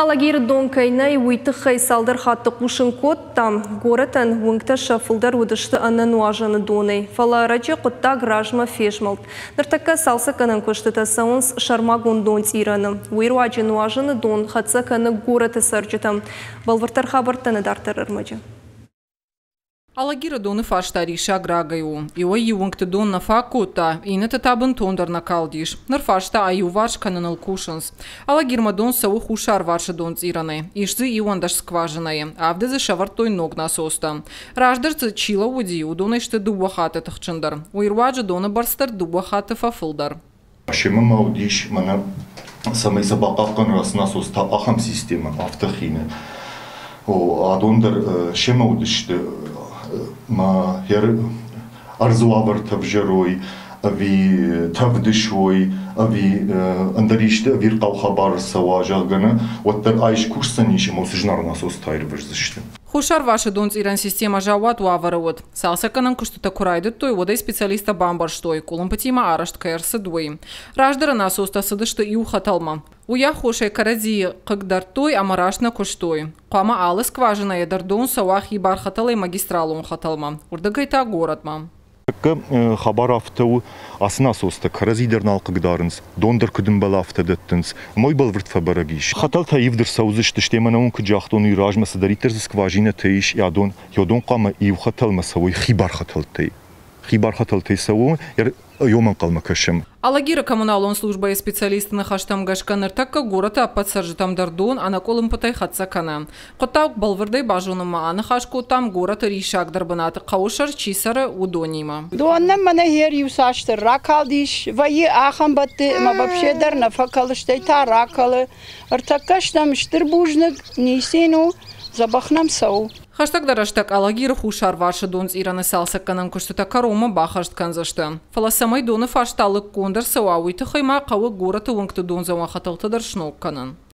Алагиры дон кӕй нӕй, уый тыххӕй цалдӕр хатты хъусын кодтам. Горӕтӕн уынгтӕ сӕ фылдӕр уыдысты ӕнӕ нуазӕны донӕй. Фӕлӕ ӕрӕджы хъуыддаг размӕ фезмӕлд. Ныртӕккӕ цалцӕггӕнӕн куыстытӕ цӕуынц сӕрмагонд донцъирӕны. Уый руаджы нуазыны дон хӕццӕ кӕны горӕты цӕрджытӕм. Бӕлвырддӕр хабӕрттӕ нӕ дарддӕр ӕрмӕджы. Алагиры доны фарста риссаг рагӕй у. Иуӕй-иу уынгты дон нӕ фаг кодта, иннӕты та бынтондӕр нӕ калдис. Ныр фарста аиуварс кӕныныл кусынц. Алагирмӕ дон цӕуы хуссарварсы донцъирӕнӕй. Ис дзы 11 скважинӕйы. Авды дзы сӕвӕрдтой ног насостӕ. Раздӕр дзы чи лӕууыди, уыдонӕй сты дыууӕ хатты тыхджындӕр. Уый руаджы доны бӕрц дӕр дыууӕ хатты фӕфылдӕр. Семӕ ма уыдис мӕнӕ, цӕмӕй сӕ бахъахъхъӕной ацы насостӕ, ахӕм системӕ, афтӕ хины. О, адон дӕр семӕ уыдысты, ма ӕрдзы уавӕртӕ ӕвзӕрой, ӕви тӕвд суой, ӕви ӕндӕр исты ӕвирхъау хабар ӕрцӕуа, зӕгъгӕ, нӕ, уӕддӕр ай скусдзӕнис ӕмӕ уыцы зынаргъ насостӕ аирвӕздзысты. Хуссарварсы донцъирӕн системӕ заууат уавӕры уыд. Цалцӕггӕнӕн куыстытӕ куы райдыдтой, уӕд ӕй специалисттӕ бамбӕрстой, къуылымпытимӕ арӕзт кӕй ӕрцыд, уый. Раздӕры насостӕ цыдысты иу хӕтӕлмӕ. Уый аххосӕй кӕрӕдзийы хъыгдардтой ӕмӕ раст нӕ куыстой. Хъуамӕ алы скважинӕйӕ дӕр дон цӕуа хибар хӕтӕлӕй магистралон хӕтӕлмӕ, уырдыгӕй та горӕтмӕ. Хабар афтӕ у, ацы насостӕ кӕрӕдзи дӕр нал хъыгдарынц, дон дӕр куыд ӕмбӕлы, афтӕ дӕттынц. Ӕмӕ уый бӕлвырд фӕбӕрӕг ис. Хӕтӕлтӕ ивд ӕрцӕудзысты, стӕй мӕнӕ уын куыд загътон, уый размӕ цыдӕриддӕр дзы скважинӕтӕ ис, адон, йодон хъуамӕ иу хӕтӕлмӕ цӕуой хибар хӕтӕлтӕй. Хибар хӕтӕлтӕй цӕуы, йом ӕнхъӕлмӕ кӕсӕм. Алагиры коммуналон службӕйы специалистты ныхӕстӕм гӕсгӕ ныртӕккӕ горӕты ӕппӕт цӕрджытӕм дӕр дон ӕнӕкъуылымпытӕй хӕццӕ кӕны. Хъуыддаг бӕлвырдӕй базонынмӕ аныхас кодтам горӕты риссагдӕр бынаты хъӕуы сӕр чи цӕры, уыдонимӕ. Дон нӕм мӕнӕ хер иуцасдӕр ракалдис, вӕййы ахӕм бӕтты ӕмӕ вообще дӕр нӕ фӕкӕлы, стӕй та ракӕлы. Ӕртӕккӕ стӕм стыр бузныг, ницы у, дзӕбӕх нӕм цӕуы. Хӕстӕгдӕр рӕстӕг Алагиры хуссарварсы донцъирӕны цалцӕггӕнӕн куыстытӕ кӕронмӕ баххӕст кӕндзысты. Фӕлӕ цӕмӕй доны фарста лыггонд ӕрцӕуа, уый тыххӕй ма хъӕуы горӕты уынгты дондзӕуӕн хӕтӕлтӕ дӕр сног кӕнын.